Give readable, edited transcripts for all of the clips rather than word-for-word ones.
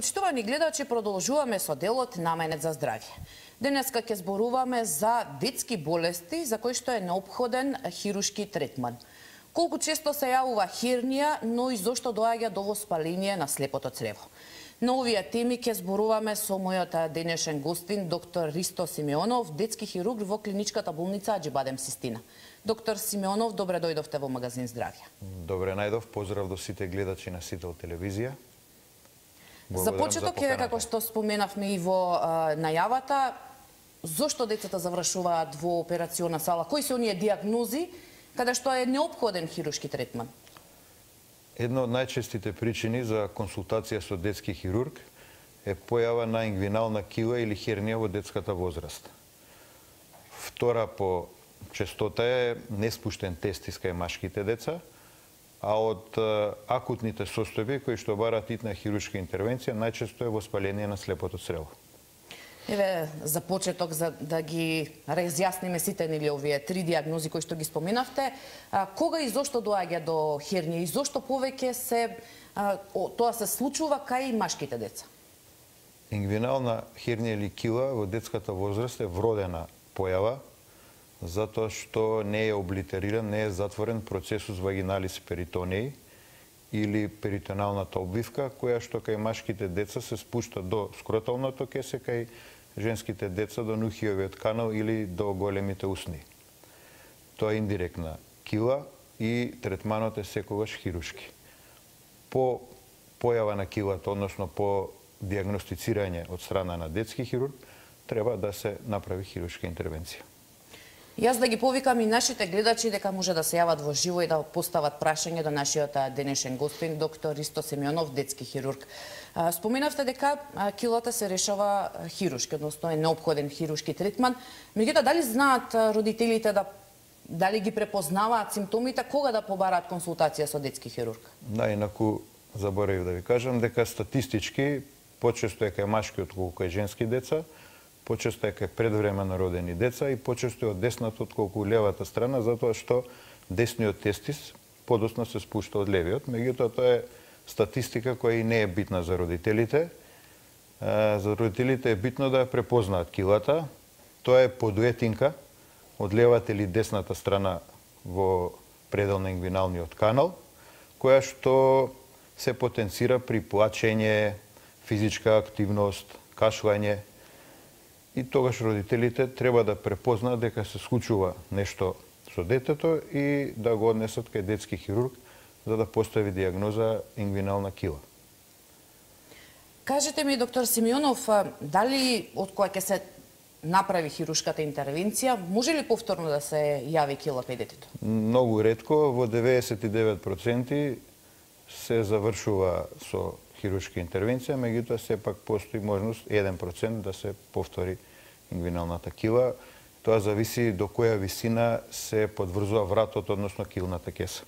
Почитувани гледачи, продолжуваме со делот Наменет за здравје. Денеска ќе зборуваме за детски болести за кои што е неопходен хирушки третман. Колку често се јавува хернија, но и зошто доаѓа до воспаление на слепото црево. На овие теми ќе зборуваме со мојот денешен гостин, доктор Ристо Симеонов, детски хирург во клиничката болница Аџибадем Систина. Доктор Симеонов, добре дојдовте во магазин Здравје. Добре најдов, поздрав до сите гледачи на Сител телевизија. За почеток е, како што споменавме и во најавата, зошто децата завршуваат во операциона сала? Кои се оние диагнози каде што е неопходен хирушки третман? Една од најчестите причини за консултација со детски хирург е појава на ингвинална кила или хернија во детската возраст. Втора по честота е неспуштен тестис кај машките деца, а од акутните состојби кои што бараат итна хирушка интервенција најчесто е воспаление на слепото црево. Еве, за почеток, за да ги разјасниме сите нели овие три диагнози кои што ги споменавте, кога и зошто доаѓа до хернија и зошто повеќе тоа се случува кај машките деца? Ингвинална хернија или кила во детската возраст е вродена појава, затоа што не е облитериран, не е затворен процесус вагиналис перитонеи или перитоналната обвивка, која што кај машките деца се спушта до скроталното кесе, кај женските деца до нухиовиот канал или до големите усни. Тоа е индиректна кила и третманот е секогаш хирушки. По појава на килата, односно по диагностицирање од страна на детски хирург, треба да се направи хирушка интервенција. Јас да ги повикам и нашите гледачи дека може да се јават во живо и да постават прашање до нашиот денешен гостин, доктор Ристо Симеонов, детски хирург. Споменавте дека килата се решава хирушки, односно е неопходен хирушки третман. Меѓутоа, дали знаат родителите дали ги препознаваат симптомите, кога да побараат консултација со детски хирург? Наинаку, заборавив да ви кажам дека статистички почесто е кај машки отколку кај женски деца, почесто е кај предвремено родени деца и почесто е од десната отколку левата страна, затоа што десниот тестис подоцна се спушта од левиот. Меѓутоа, тоа е статистика која и не е битна за родителите. За родителите е битно да ја препознаат килата. Тоа е подуетинка од левата или десната страна во предел на ингвиналниот канал, која што се потенцира при плачење, физичка активност, кашлање. И тогаш родителите треба да препознаат дека се случува нешто со детето и да го однесат кај детски хирург за да постави диагноза ингвинална кила. Кажете ми, доктор Симеонов, дали од која ќе се направи хирушката интервенција, може ли повторно да се јави кила кај детето? Многу ретко, во 99% се завршува со хирушка интервенција, меѓутоа сепак постои можност 1% да се повтори ингвиналната кила. Тоа зависи до која висина се подврзува вратот, односно килната кеса.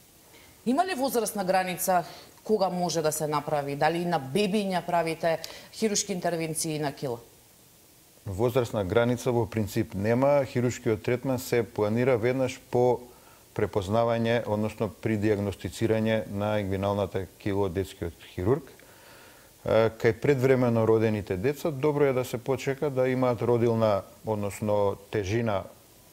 Има ли возрастна граница кога може да се направи? Дали на бебиња правите хирушки интервенции на кила? Возрастна граница во принцип нема. Хирушкиот третман се планира веднаш по препознавање, односно при диагностицирање на ингвиналната кила од детскиот хирург. Кај предвремено родените деца, добро е да се почека да имаат родилна, односно тежина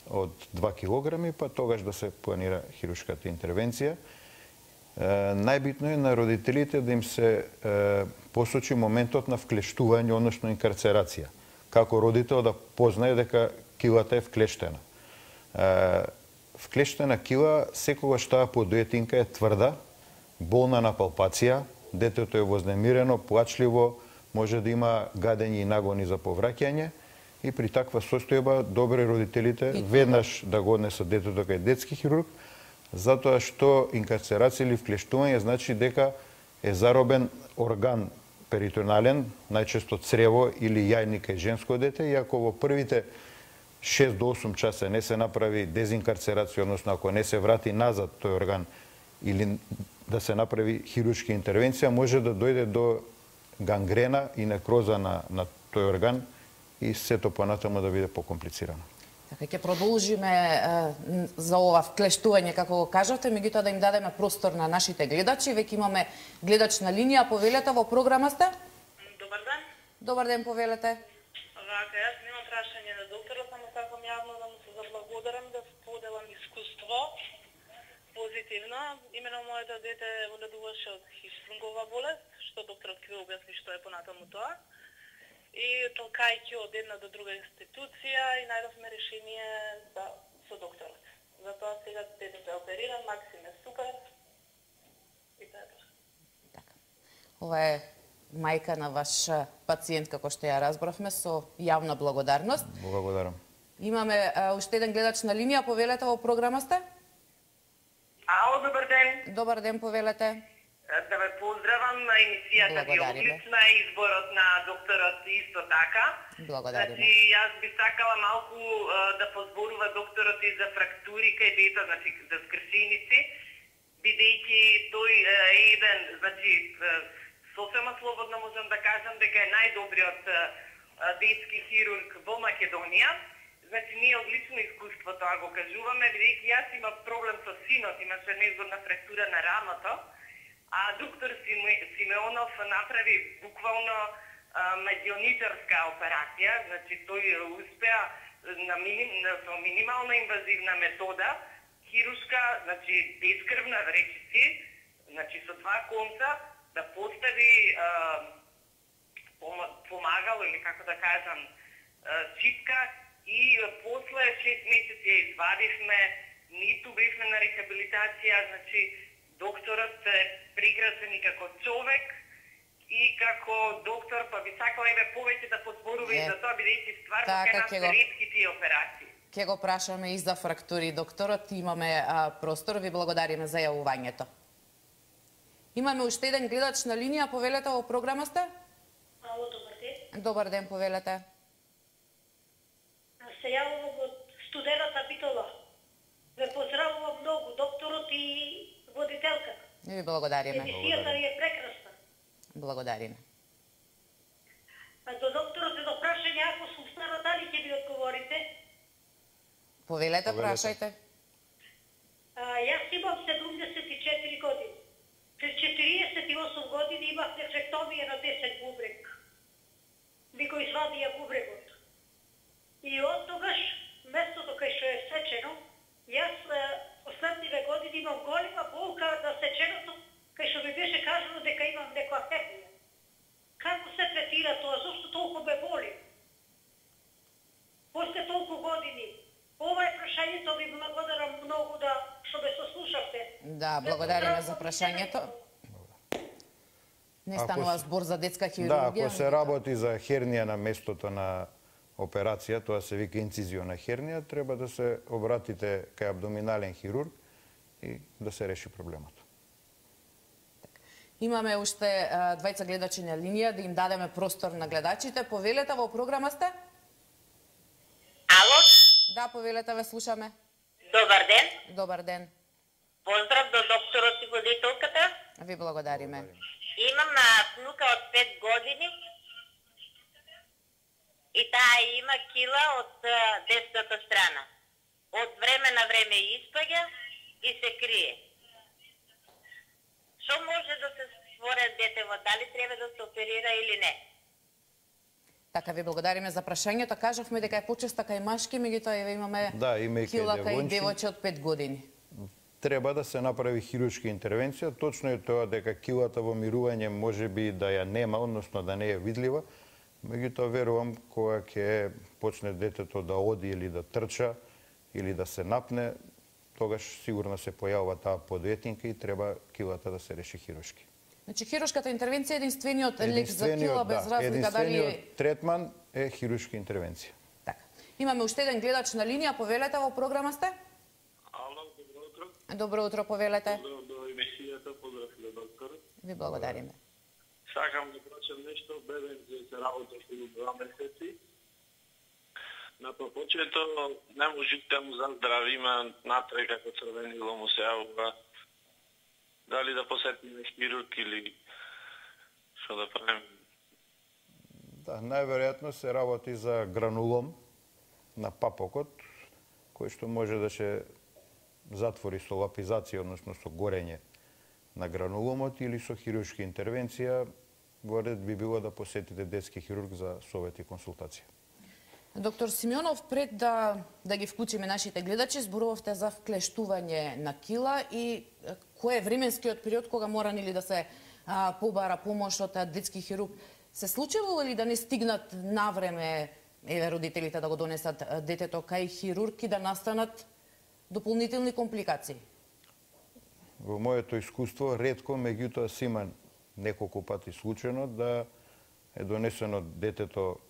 од 2 килограми, па тогаш да се планира хирушката интервенција. Најбитно е на родителите да им се посочи моментот на вклештување, односно инкарцерација. Како родител да познае дека килата е вклештена. Вклештена кила секогаш таа подуетинка е тврда, болна на палпација, детето е вознемирено, плачливо, може да има гадење и нагони за повраќање и при таква состојба добре родителите веднаш да го однесат детето кај детски хирург, затоа што инкарцерација или вклештување значи дека е заробен орган перитонален, најчесто црево или јајник кај женско дете, и ако во првите 6 до 8 часа не се направи дезинкарцерација, односно ако не се врати назад тој орган или да се направи хируршка интервенција, може да дојде до гангрена и некроза на тој орган и сето понатаму да биде покомплицирано. Така ќе продолжиме за ова вклештување, како го кажавте, меѓутоа да им дадеме простор на нашите гледачи. Веќе имаме гледач на линија, повелете, во програма сте? Добар Добар ден, повелете. Вака, јас немам прашање на докторот, само сакам јавно да му се заблагодарам да споделам искуство позитивно. Имено моето дете боледуваше од хиштрунгова болест, што докторот ќе ви објасни што е понатаму тоа. И толкајќи од една до друга институција и најдовме решение со докторот. Затоа сега детето е опериран, Максим е супер. И тоа е тоа. Така. Ова е мајка на ваш пациент, како што ја разбравме, со јавна благодарност. Благодарам. Имаме уште еден гледач на линија, повелете, во програма сте? Ало, добар ден. Добар ден, повелете. Да ве поздравам, емисијата ви е одлична, изборот на докторот исто така. Благодариме. Значи, јас би сакала малку да позборува докторот и за фрактури кај дета, значи за скршеници, бидејќи тој е еден, значи, сосема слободно можам да кажам дека е најдобриот детски хирург во Македонија. Значи, ние одлично искуство тоа го кажуваме, бидејќи јас имам проблем со синот, имаше незгодна фрактура на рамото, а доктор Симеонов направи буквално медионичарска операција, значи тој успеа со минимална инвазивна метода, хирушка, значи бескрвна речиси, значи со два конца, да постави помагало, или како да кажам, чипка, и после 6 месеци ја извадивме, ниту бевме на рехабилитација, значи докторот е прекрасен и како човек и како доктор, па би сакала еве повеќе да позборува и за тоа, бидејќи стварно кај нас ретки тие операции. Ќе го прашаме и за фрактури докторот, имаме простор, ви благодариме за јавувањето. Имаме уште еден гледач на линија, повелете, во програма сте? Ало, добар ден. Добар ден, повелете. Се јавувам од студената Битола. Ве поздравувам многу, докторот и водителката. Ви благодариме. Емисијата ви е прекрасна. Благодариме. До докторот едно прашање, ако сум стара, дали ќе ми одговорите? Повелете, прашајте. Јас имам 74 години. Пред 48 години имав нефректомија на 10 бубрек. Ми го извадија бубрегот. И од тогаш, местото кај што е сечено, јас последниве години имам голема болка на сеченото, кај што ми беше кажано дека имам некоја хернија. Како се третира тоа? Зошто толку ме боли? После толку години. Ова е прашањето, ви благодарам многу што ме сослушавте. Да, благодариме за прашањето. Не станува збор за детска хирургија. Да, ако се работи за хернија на местото на операција, тоа се вика инцизиона хернија, треба да се обратите кај абдоминален хирург и да се реши проблемот. Имаме уште двајца гледачи на линија, да им дадеме простор на гледачите. Повелете, во програма сте? Ало? Да, повелете, ве слушаме. Добар ден. Добар ден. Поздрав до докторот и водителката. Ви благодариме. Имам внука од 5 години и таа има кила од десната страна. Од време на време испаѓа и се крие. Што може да се створе детево? Дали треба да се оперира или не? Така, ви благодариме за прашањето. Кажавме дека е почеста кај машки, меѓутоа имаме кила кај девојче од 5 години. Треба да се направи хируршка интервенција. Точно е тоа дека килата во мирување може би да ја нема, односно да не е видлива. Меѓутоа верувам кога ќе почне детето да оди или да трча или да се напне, тогаш сигурно се појавува таа подветинка и треба килата да се реши хируршки. Значи хируршката интервенција е единствениот лек за кила без разлика дали е... Единствениот третман е хируршка интервенција. Така. Имаме уште еден гледач на линија, повелете, во програма сте? Ало, добро утро. Добро утро, повелете. Поздрав до емисијата, поздрав до докторот. Ви благодариме. Сакам да прашам нешто, бебен се работеше до 2 месеци. На почето не можите да му заздрави, има натре како црвенило му се јавува. Дали да посетиме хирург или што да правим? Да, најверојатно се работи за гранулом на папокот, кој што може да се затвори со лапизација, односно со горење на грануломот или со хируршка интервенција. во ред би било да посетите детски хирург за совет и консултација. Доктор Симеонов, пред да ги вклучиме нашите гледачи, зборувавте за вклештување на кила и кој е временскиот период кога мора нели да се побара помош од детски хирург. Се случило ли да не стигнат навреме родителите да го донесат детето кај хирург и да настанат дополнителни компликации? Во моето искуство ретко, меѓутоа се има неколку пати случајно да е донесено детето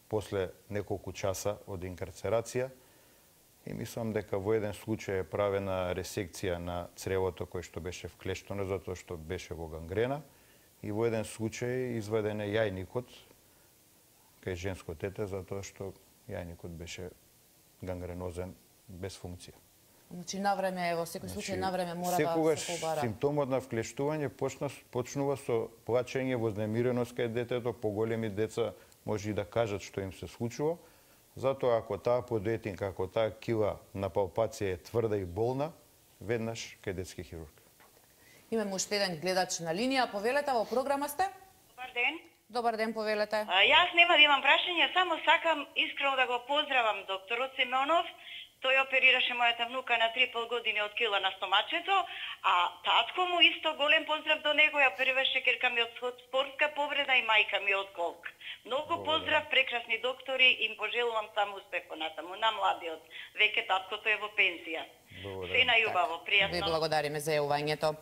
после неколку часа од инкарцерација и мислам дека во еден случај е правена ресекција на цревото кој што беше вклештено затоа што беше во гангрена и во еден случај изваден е јајникот кај женско дете затоа што јајникот беше гангренозен без функција. Значи навреме, во секој случај навреме мора да се побара. Секогаш симптомот на вклештување почнува со плачење, вознемиреност кај детето, поголеми деца може и да кажат што им се случува. Затоа ако таа подоетинка, ако таа кила на палпација е тврда и болна, веднаш кај детски хирург. Имаме уште еден гледач на линија. Повелете, во програма сте? Добар ден. Добар ден, повелете. Јас нема да имам прашање, само сакам искрено да го поздравам докторот Симеонов. Тој оперираше мојата внука на 3,5 години од кила на стомачето, а татко му исто голем поздрав до него, ја оперираше керка ми од спортска повреда и мајка ми од колк. Многу поздрав, прекрасни доктори, им пожелувам само успех понатаму на младиот. Веќе таткото е во пензија. Се најубаво, пријатно. Ви благодариме за јавувањето.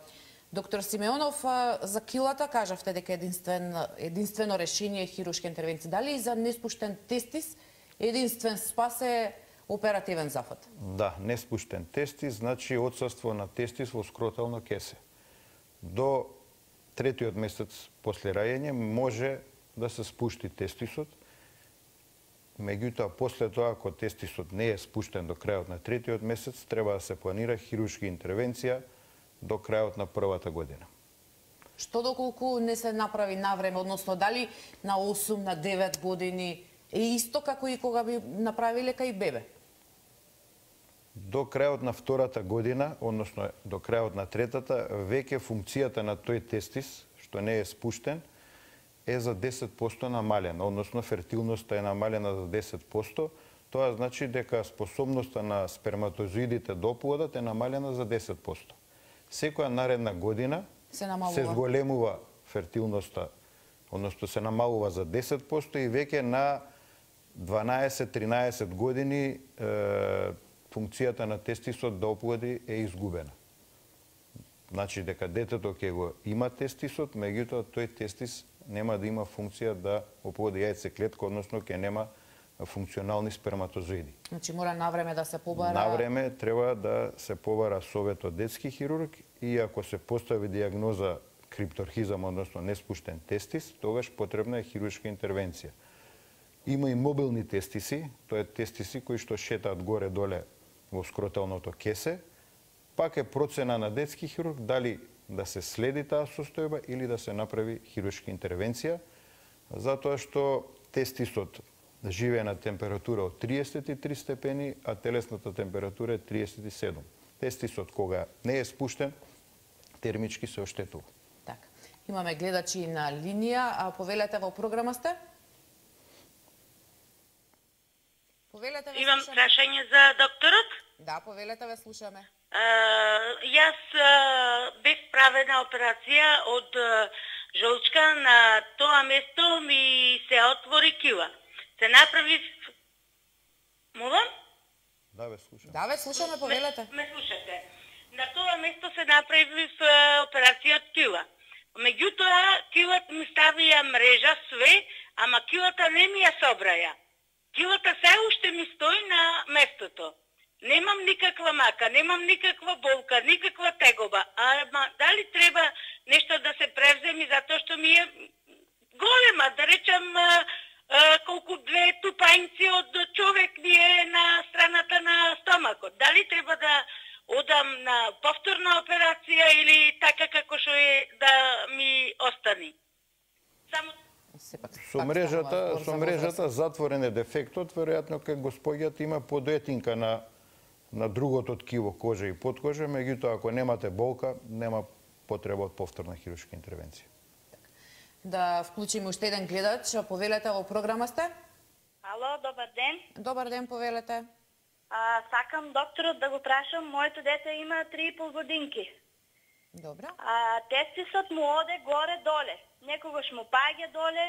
Доктор Симеонов, за килата кажавте дека единствено решение е хируршка интервенција. Дали и за неспуштен тестис единствен спас е оперативен зафат? Да, неспуштен тестис значи отсуство на тестис во скротално кесе. До третиот месец после раѓање може да се спушти тестисот. Меѓутоа, после тоа, ако тестисот не е спуштен до крајот на третиот месец, треба да се планира хируршка интервенција до крајот на првата година. Што доколку не се направи навреме, односно дали на 8, на 9 години е исто како и кога би направиле кај бебе? До крајот на втората година, односно до крајот на третата, веќе функцијата на тој тестис, што не е спуштен, е за 10% намалена, односно фертилноста е намалена за 10%. Тоа значи дека способноста на сперматозоидите до оплодот е намалена за 10%. Секоја наредна година се зголемува фертилноста, односно се намалува за 10% и веќе на 12-13 години функцијата на тестисот да оплоди е изгубена. Значи дека детето ќе го има тестисот, меѓутоа тој тестис нема да има функција да оплоди јајцеклетка, односно ќе нема функционални сперматозоиди. Значи мора навреме да се побара. Навреме треба да се побара советот детски хирург и ако се постави дијагноза крипторхизам, односно неспуштен тестис, тогаш потребна е хируршка интервенција. Има и мобилни тестиси, тоа е тестиси кои што шетаат горе-доле во скроталното кесе, пак е процена на детски хирург дали да се следи таа состојба или да се направи хируршка интервенција, затоа што тестисот живее на температура од 33 степени, а телесната температура е 37. Тестисот кога не е спуштен, термички се оштетува. Така. Имаме гледачи на линија, а повелете во програма сте? Повелете, ве Имам слушаме. прашање за докторот. Да, повелете, ве слушаме. Јас бев правена операција од жолчка, на тоа место ми се отвори кила. Се направив... Молам? Да, ве слушам. Да, ве слушаме, повелете. Ме слушате. На тоа место се направив операција од кила. Меѓутоа, килата ми ставија мрежа, све, ама килата не ми ја собраја. Килата се уште ми стои на местото. Немам никаква мака, немам никаква болка, никаква тегоба. Ама дали треба нешто да се превземи затоа што ми е голема, да речам колку две тупањци од човек ми е на страната на стомакот. Дали треба да одам на повторна операција или така како што е да ми остани? Само Со мрежата затворен е дефектот, веројатно кај господјата има подоетинка на другото ткиво, кожа и подкожа, меѓутоа ако немате болка, нема потреба од повторна хируршка интервенција. да вклучиме уште еден гледач. Повелете, во програма сте? Ало, добар ден. Добар ден, повелете. Сакам докторот да го прашам, моето дете има 3,5 годинки. Добра. Тестисот му оде горе-доле. Некогаш му паѓа доле,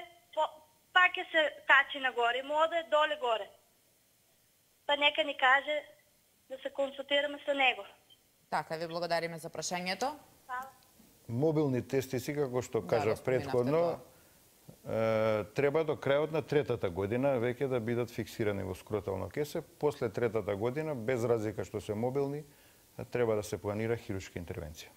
пак се качи нагоре, му оде доле-горе. Па нека ни каже да се консултираме со него. Така, ви благодариме за прашањето. Мобилни тестиси, како што кажав претходно, треба до крајот на третата година веќе да бидат фиксирани во скротално кесе. После третата година, без разлика што се мобилни, треба да се планира хируршка интервенција.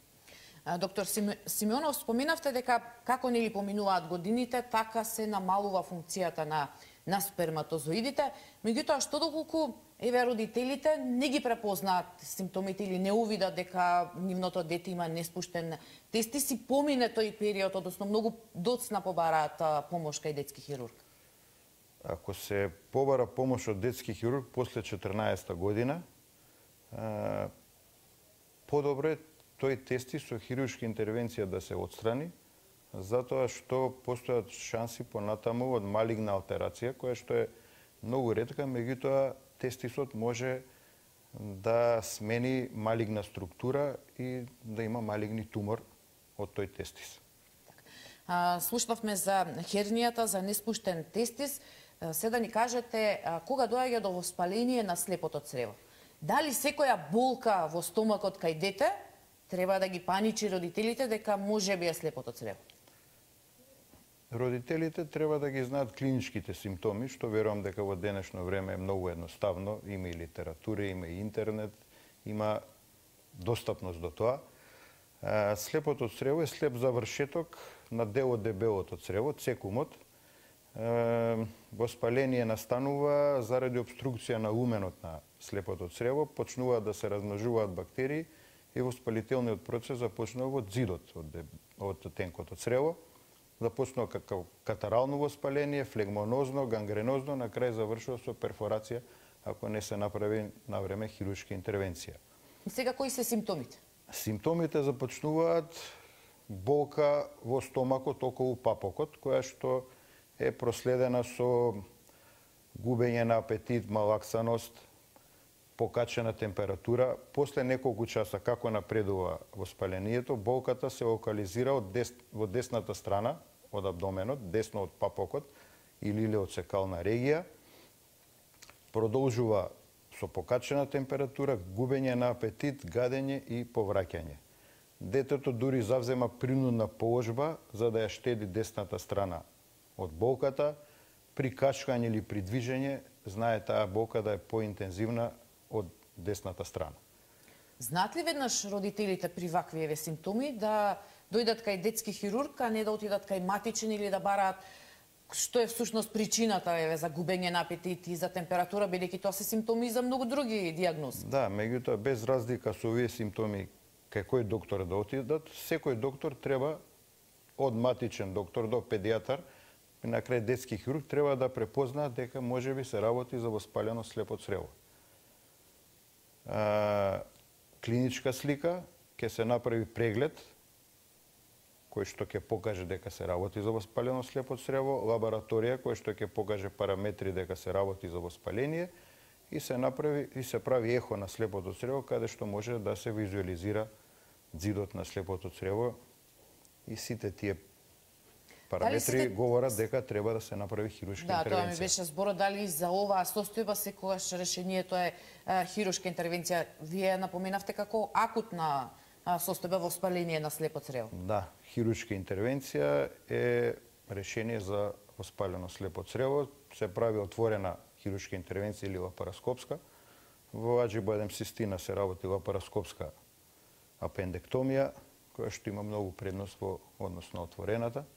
Доктор Симеонов, споминавте дека како нели поминуваат годините, така се намалува функцијата на сперматозоидите. Меѓутоа, што доколку родителите не ги препознаат симптомите или не увидат дека нивното дете има неспуштен тестис и помине тој период, односно многу доцна побараат помош кај детски хирург? Ако се побара помош од детски хирург после 14-та година, подобро е тој тестис со хируршка интервенција да се отстрани, затоа што постојат шанси понатаму од малигна алтерација, која што е многу ретка, меѓутоа тестисот може да смени малигна структура и да има малигни тумор од тој тестис. Слушнавме за хернијата, за неспуштен тестис. Се да ни кажете кога доаѓа до воспаление на слепото црево. Дали секоја болка во стомакот кај дете треба да ги паничи родителите дека може би е слепото црево? Родителите треба да ги знаат клиничките симптоми, што верувам дека во денешно време е многу едноставно. Има и литература, има и интернет, има достапност до тоа. Слепото црево е слеп завршеток на дел од дебелото црево, цекумот. Воспаление настанува заради обструкција на луменот на слепото црево, почнуваат да се размножуваат бактерии и воспалителниот процес започнува од зидот од тенкото црево. Започнува како катарално воспаление, флегмонозно, гангренозно, на крај завршува со перфорација ако не се направи на време хируршка интервенција. И сега кои се симптомите? Симптомите започнуваат болка во стомакот околу папокот, која што е проследена со губење на апетит, малаксаност, покачена температура. После неколку часа како напредува воспалението, болката се локализира во десната страна од абдоменот, десно од папокот или од цекална регија. Продолжува со покачена температура, губење на апетит, гадење и повраќање. Детето дури завзема принудна положба за да ја штеди десната страна од болката. При качкање или при движење, знае таа болка да е поинтензивна од десната страна. Знаат ли веднаш родителите при вакви симптоми да дојдат кај детски хирург, а не да отидат кај матичен или да бараат што е всушност причината за губење на апетит и за температура, бидејќи тоа се симптоми за многу други диагнози? Да, меѓутоа без разлика со овие симптоми кај кој доктор да отидат, секој доктор треба од матичен доктор до педијатар и на крај детски хирург треба да препознаат дека можеби се работи за воспалено слепо црево. Клиничка слика, ќе се направи преглед кој што ќе покаже дека се работи за воспалено слепо црево, лабораторија кој што ќе покаже параметри дека се работи за воспаление и се прави ехо на слепото црево каде што може да се визуализира ѕидот на слепото црево и сите тие параметри говорат дека треба да се направи хируршка интервенција. Да, тоа ми беше зборот, дали за оваа состојба секогаш решението е хируршка интервенција. Вие напоменавте како акутна состојба воспаление на слепо црево. Да, хируршка интервенција е решение за воспалено слепо црево. Се прави отворена хируршка интервенција или лапароскопска. Во аџибадемцистина се работи лапароскопска апендектомија, која што има многу предност во однос на отворената.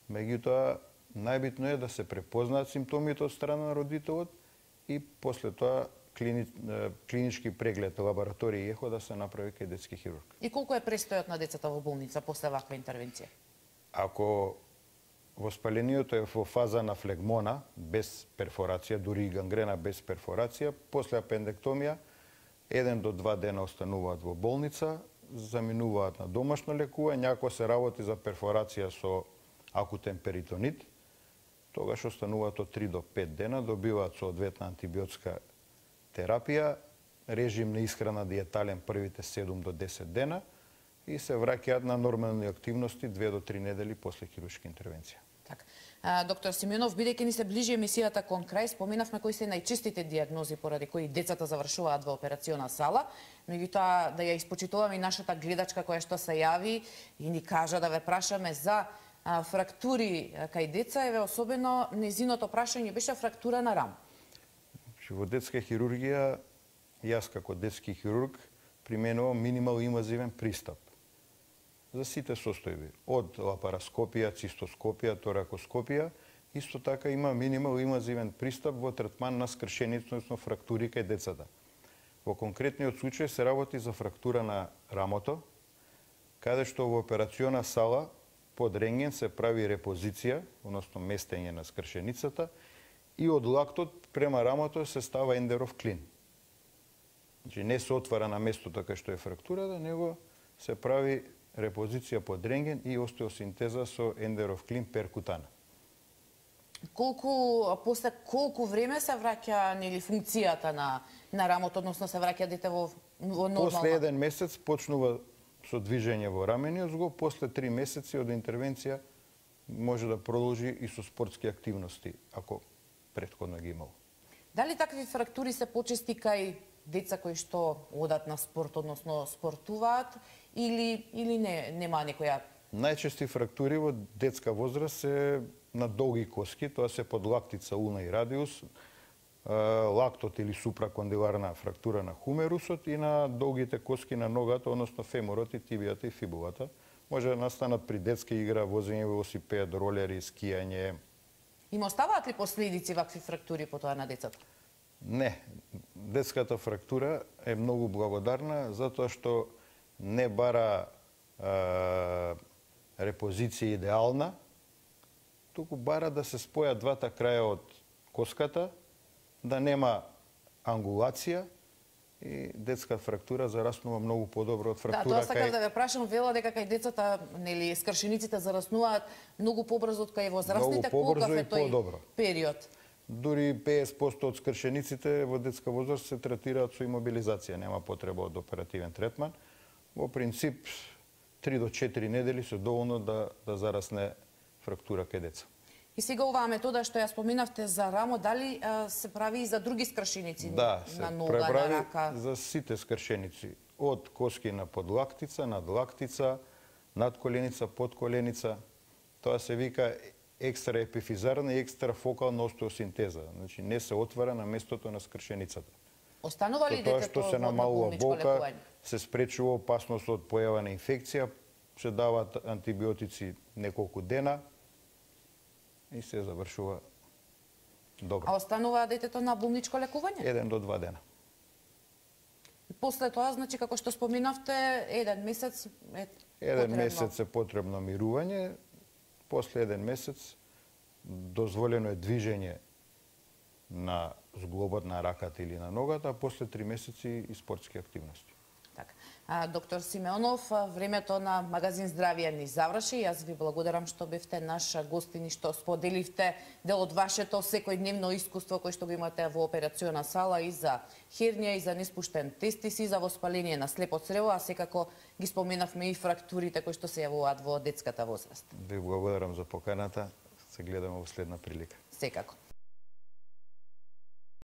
Меѓутоа, најбитно е да се препознаат симптомите од страна на родителот и после тоа клинички преглед, лабораторија и ехо да се направи кај детски хирург. И колку е престојот на децата во болница после ваква интервенција? Ако воспалението е во фаза на флегмона, без перфорација, дури и гангрена без перфорација, после апендектомија, 1 до 2 дена остануваат во болница, заминуваат на домашно лекување, ако се работи за перфорација со акутен перитонит, тогаш остануваат од 3 до 5 дена, добиваат соодветна антибиотска терапија, режим на исхрана диетален првите 7 до 10 дена и се враќаат на нормални активности 2 до 3 недели после хируршка интервенција. Така. Доктор Симеонов, бидејќи ни се ближи емисијата кон крај, споменавме кои се најчестите диагнози поради кои децата завршуваат во операциона сала, меѓутоа да ја испочитуваме и нашата гледачка која што се јави и ни кажа да ве прашаме за фрактури кај деца, еве особено незиното прашање беше фрактура на рам. Во детска хирургија, јас како детски хирург применувам минимал инвазивен пристап за сите состојби, од лапароскопија, цистоскопија, торакоскопија, исто така има минимал инвазивен пристап во третман на скршеници, односно фрактури кај децата. Во конкретниот случај се работи за фрактура на рамото, каде што во операциона сала под рентген се прави репозиција, односно местење на скршеницата, и од лактот према рамото се става ендеров клин. Значи не се отвара на местото кај што е фрактурата, него се прави репозиција под рентген и остеосинтеза со ендеров клин перкутана. После колку време се враќа нели функцијата на рамото, односно се враќа дете во нормална? После 1 месец почнува со движење во рамениот зглоб, после 3 месеци од интервенција може да продолжи и со спортски активности, ако претходно ги имало. Дали такви фрактури се почести кај деца кои што одат на спорт, односно спортуваат, или нема некоја? Најчести фрактури во детска возраст се на долги коски, тоа се под лактица, уна и радиус, лактот или супракондиларна фрактура на хумерусот и на долгите коски на ногата, односно феморот и тибијата и фибулата. Може да настанат при детска игра, возење велосипед, ролери, скијање. Има оставаат ли последици вакви фрактури по тоа на децата? Не. Детската фрактура е многу благодарна затоа што не бара репозиција идеална, туку бара да се спојат двата краја од коската, да нема ангулација и детска фрактура зараснува многу подобро од фрактура. Да, тоа сакав да ве прашам, вела дека кај децата, нели, скршениците зараснуваат многу побрзо од кај возрастните, колкав е тој период? Дури 50% од скршениците во детска возраст се третираат со имобилизација, нема потреба од оперативен третман. Во принцип, 3 до 4 недели се доволно да зарасне фрактура кај деца. И сега оваа метода што ја споменавте за рамо, дали се прави и за други скршеници на нога, на рака? Да, за сите скршеници. Од коски на подлактица, надлактица, надколеница, подколеница. Тоа се вика екстра епифизарна и екстра фокална остеосинтеза. Значи не се отвара на местото на скршеницата. Останува ли детето што се намалува болка, се спречува опасност од појава на инфекција, се даваат антибиотици неколку дена и се завршува добро. А останува детето на болничко лекување? 1 до 2 дена. И после тоа, значи, како што споменавте, 1 месец е потребно. 1 месец е потребно мирување, после 1 месец дозволено е движење на зглобот на раката или на ногата, а после 3 месеци и спортски активности. Така. Доктор Симеонов, времето на магазин Здравје ни заврши. Јас ви благодарам што бевте наш гостин и што споделивте дел од вашето секојдневно искуство кој што го имате во операциона сала и за хернија, и за неспуштен тестис, и за воспаление на слепо црево, а секако ги споменавме и фрактурите кои што се јавуваат во детската возраст. Ви благодарам за поканата. Се гледаме во следна прилика. Секако.